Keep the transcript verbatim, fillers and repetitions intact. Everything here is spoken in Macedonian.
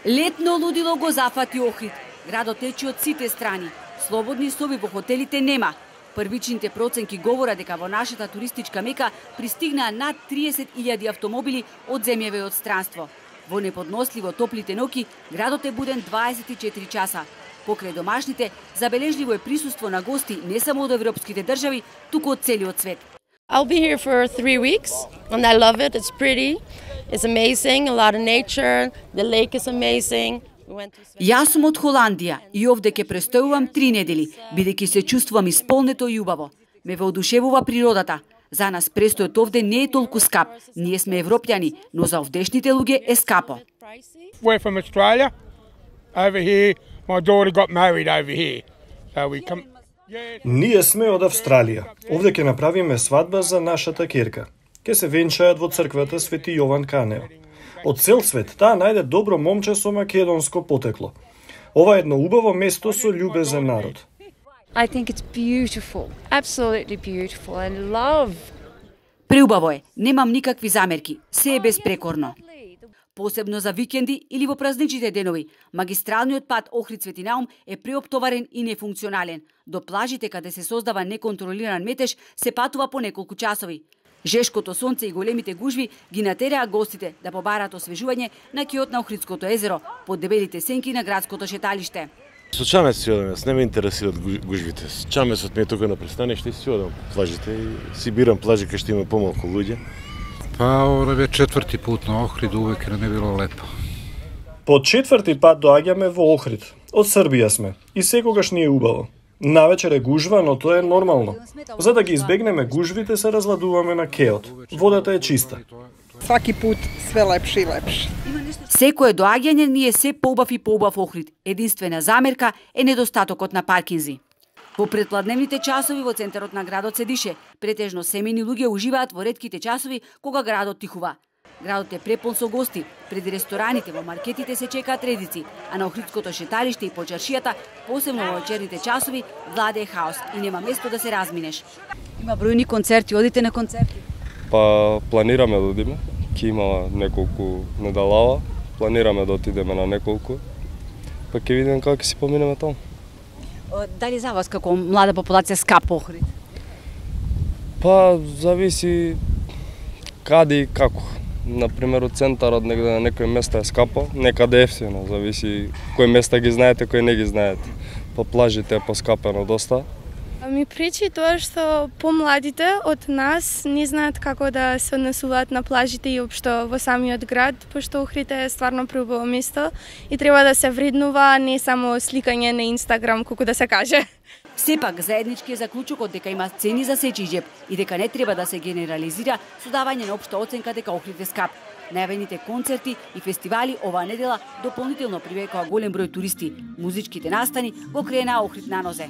Летно лудило го зафати Охрид. Градот тече од сите страни. Слободни соби во хотелите нема. Првичните проценки говорат дека во нашата туристичка мека пристигнаа над триесет илјади автомобили од земјаве и од странство. Во неподносливо топлите ноќи градот е буден дваесет и четири часа. Покрај домашните, забележливо е присуство на гости не само од европските држави, туку од целиот свет. I'll be here for three weeks and I love it. It's pretty. It's amazing. A lot of nature. The lake is amazing. Јас сум од Холандија и овде ќе престојувам три недели, бидејќи се чувствувам исполнето и убаво. Ме воодушевува природата. За нас престојот овде не е толку скап. Ние сме европјани, но за овдешните луѓе е скапо. We're from Australia. Over here, my daughter got married over here. So we come. Ние сме од Австралија. Овде ќе направиме свадба за нашата ќерка. Ке се венчаат во црквата Свети Јован Канео. Од цел свет таа најде добро момче со македонско потекло. Ова е едно убаво место со љубезен народ. I think it's beautiful. Absolutely beautiful and love. Преубаво е, немам никакви замерки. Се е безпрекорно. Посебно за викенди или во празничните денови, магистралниот пат Охрид Свети Наум е преоптоварен и нефункционален. До плажите каде се создава неконтролиран метеж се патува по неколку часови. Жешкото сонце и големите гужви ги натераа гостите да побараат освежување на киот на Охридското езеро под дебелите сенки на градското шеталиште. Со чамесот си одам, не ме интересираат гужвите. Чамесот ми е тука на пристаниште и си одам плажите и си бирам плажи кај што има помалку луѓе. Па, ова е четврти пут на Охрид, увек не било лепо. По четврти пат доаѓаме во Охрид. Од Србија сме и секогаш ни е убаво. Навечер е гужва, но тоа е нормално. За да ги избегнеме гужвите се разладуваме на кеот. Водата е чиста. Сваки пут све лепше и лепше. Секое доаѓање ни е се поубав и поубав Охрид. Единствена замерка е недостатокот на паркинзи. Во предпладневните часови во центарот на градот се дише. Претежно семејни луѓе уживаат во ретките часови кога градот тихува. Градот е препон со гости. Преди рестораните во маркетите се чекаат редици, а на Охридското шеталиште и по чаршијата, посебно во вечерните часови, владее хаос и нема место да се разминеш. Има бројни концерти, одите на концерти? Па планираме да одиме. Ќе има неколку недалава. Планираме да отидеме на неколку. Па ќе видиме како ќе си поминеме таму. Дали за вас како млада популација скапо Охрид? Па зависи каде и како. Например, од центарот негде на некои места е скапо, некаде ефтино, зависи кои места ги знаете, кои не ги знаете. По плажите е поскапено доста. Ми пречи тоа што помладите од нас не знаат како да се однесуваат на плажите и општо во самиот град, пошто Охрид е стварно преубаво место и треба да се вреднува, не само сликање на Инстаграм, колку да се каже. Сепак, заеднички е заклучокот дека има цени за сечи џеб и дека не треба да се генерализира со давање на општа оценка дека Охрид е скап. Најавените концерти и фестивали оваа недела дополнително привлекоа голем број туристи. Музичките настани го кренаа Охрид на нозе.